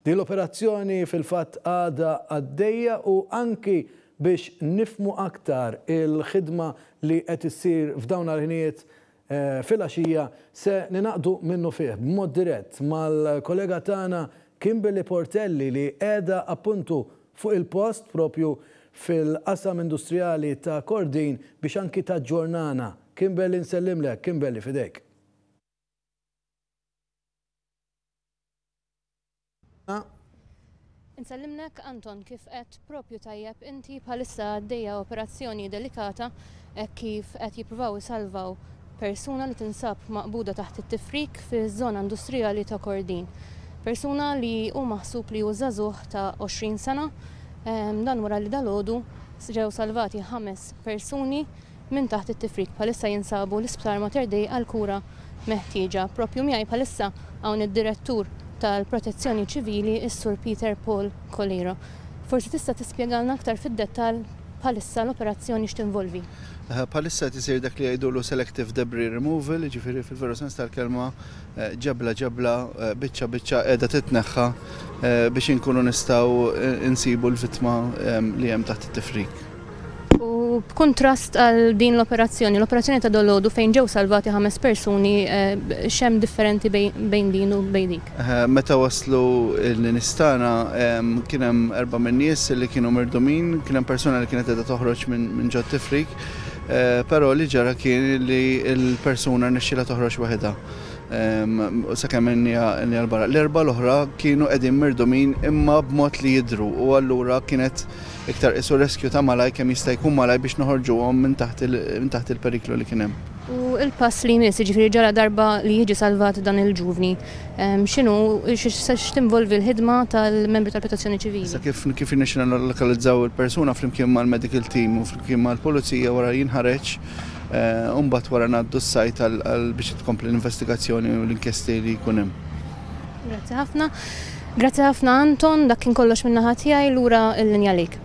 Din l-operazzjoni fil-fatt għadha għaddejja u anki biex nifhmu aktar il-ħidma li qed issir f'dawn l-ħinijiet filgħaxija se ningħaqdu minnufih b'mod dirett mal-kollega tagħna Kimberly Portelli li qiegħda appuntu fuq il-post propju fil-qasam industrijali ta' Kordin biex anki taġġornana. Kimberly nsellimlek, Kimberly f'idejk. Insellimlek Anton kif qed propju tajjeb inti bħalissa għaddejja operazzjoni delikata hekk kif qed jippruvaw isalvaw persuna li tinsab maqbuda taħt it-tifrik fiż-żona industrijali ta' Kordin. Persuna li hu maħsub li hu żagħżugħ ta' 20 sena dan wara li dalgħodu ġew salvati ħames persuni minn taħt it-tifrik bħalissa jinsabu l-Isptar Mater Dei għall-kura meħtieġa. Proprju miegħi bħalissa hawn id-Direttur tal-Protezzjoni Ċivili, is-Sur Peter Paul Coleiro. Forsi tista' tispjegalna aktar fid-dettall bħalissa l-operazzjoni x'tinvolvi? Bħalissa qed isir dak li jgħidulu selective debris removal, jiġifieri fil-veru sens tal-kelma ġebla ġebla, biċċa biċċa qiegħda titneħħa biex inkunu nistgħu nsibu l-vittma li hemm taħt it-tifrik. U b'kuntrast għal din l-operazzjoni, l-operazzjoni ta' dolodu fejn ġew salvati ħames persuni, x'hemm differenti bejn din u bejn dik? Meta waslu n-nies tagħna kien hemm erba' min-nies li kienu mirdumin, kien hemm persuna li kienet qiegħda toħroġ minn ġot-tifrik, però li ġara kien li l-persuna rnexxielha toħroġ waħedha sakemm għenniha 'l barra. L-erba' l-oħra kienu qegħdin mirdumin imma b'mod li jidhru u allura kienet Iktar qisu rescue ta' malajr kemm jista' jkun malajr biex noħorġuhom minn taħt minn taħt il-periklu li kien hemm. U l-pass li jmiss, jiġifieri ġara darba li jiġi salvat dan il-ġuvni, x'inhu, x'tinvolvi l-ħidma tal-membri tal-Protezzjoni Ċivili? Issa kif kif irnexxielna nillokalizzaw il-persuna flimkien mal-medical team u flimkien mal-pulizija wara jinħareġ u mbagħad wara ngħaddu s-site għal biex tkompli l-investigazzjoni u l-inkjesti li jkun hemm. Grazzi ħafna. Grazzi ħafna Anton, dak kien kollox min-naħa tiegħi, lura l-linja għalik.